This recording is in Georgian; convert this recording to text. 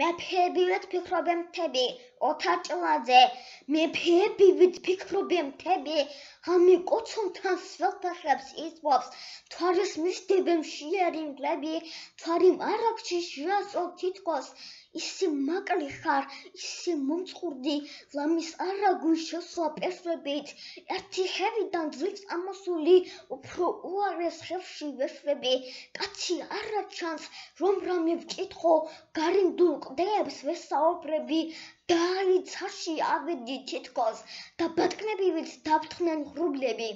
მეფეებივით ფიქრობენ მთები, ოთარ ჭლაძე. მეფეებივით ფიქრობენ მთები, ამი კოცონთან სველთახებს იწვავს, თვარის მისდებენ შიერინგლები, თვარი მარაგში შეასწავლ თითქოს, ისი მაკლი ხარ, ისი მომწყურდი, ლამის არაგვი შესვა პესვებით, ერთი ხევიდან ძლივს ამოსული, უფრო უარეს ხევში ვეშვები, კაცი არა ჩანს, რომ რამე ვკითხო, გარემდულ კლდეებს ვესაუბრები, დაიცაში ავედი თითქოს და ბატკნებივით დავთხრნენ ღრუბლები.